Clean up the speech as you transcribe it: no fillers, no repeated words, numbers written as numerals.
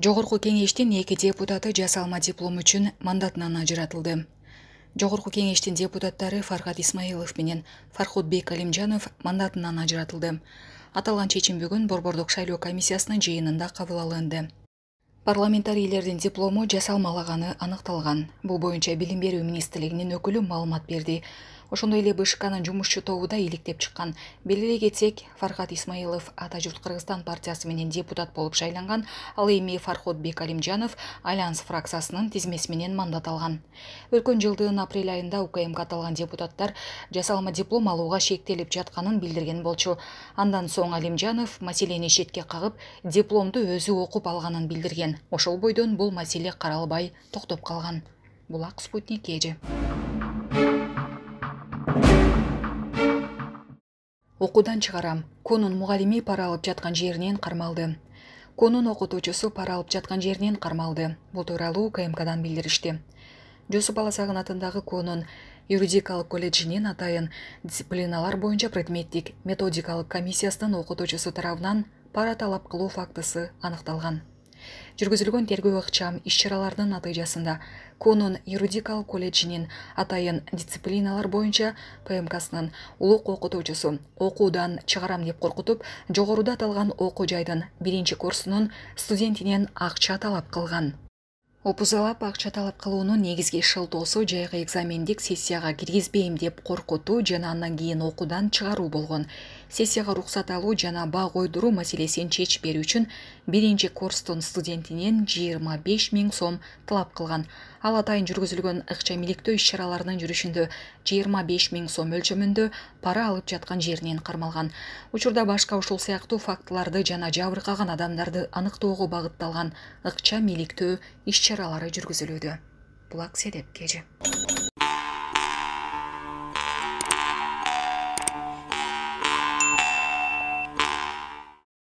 Жогорку кеңештин 2 депутаты жасалма диплом үчүн мандатынан ажыратылды. Жогорку кеңештин депутаттары Фархат Исмаилов менен Фархотбек Алимжанов мандатынан ажыратылды. Аталган чечим бүгүн Борбордук шайлоо комиссиясынын жыйынында кабыл алынды. Парламентарийлердин диплому жасалмалаганы аныкталган. Бул боюнча Билим берүү министрлигинин өкүлү маалымат берди. Ошондой эле БШКнын жумушчу тобу да иликтеп чыккан. Белгилей кетсек, Фархат Исмаилов Ата журт Кыргызстан партиясы менен депутат болуп шайланган, ал эми Фархотбек Алимжанов Альянс фракциясынын тизмеси менен мандат алган. Өткөн жылдын апрель айында УКМК аталган депутаттар жасалма диплом алууга шектелип жатканын билдирген болчу. Андан соң Алимжанов маселени четке кагып, дипломду өзү окуп алганын билдирген. Ошол бойдон бул маселе каралбай токтоп калган. Булак Спутник эже. Окуудан чыгарам. Конун мугалими пара алып жаткан жеринен кармалды. Конун окутуучусу пара алып жаткан жеринен кармалды. Бул тууралуу УКМКдан билдиришти. Жусуп Аласагын атындагы Конун юридикалык колледжинин атайын дисциплиналар боюнча предметтик методикалык комиссиясынын окутуучусу тарабынан пара талап кылуу фактысы аныкталган. Жүргүзүлгөн тергөө ыкчам иш-чараларынын натыйжасында Конун юридикалык колледжинин атайын дисциплиналар боюнча ПМКсынын улук окутуучусу окуудан чыгарам деп коркутуп, жогоруда аталган окуу жайдын 1-курсунун студентинен акча талап кылган. Опузалап акча талап кылуунун негизги шылтоосу жайкы экзамендик сессияга киргизбейм деп коркутуу жана андан кийин окуудан чыгаруу болгон. Сессияга уруксат алуу жана баа койдуруу маселесин чечип берүү үчүн 1-курстун студентинен 25 000 сом талап кылган. Ал атайын жүргүзүлгөн ыкчам иликтөө иш-чараларынын жүрүшүндө 25 000 сом өлчөмүндө пара алып жаткан жеринен кармалган. Учурда башка ушул сыяктуу фактыларды жана жабыркаган адамдарды аныктоого багытталган ыкчам иликтөө иш-чаралары жүргүзүлүүдө. Булак Седеп кежи.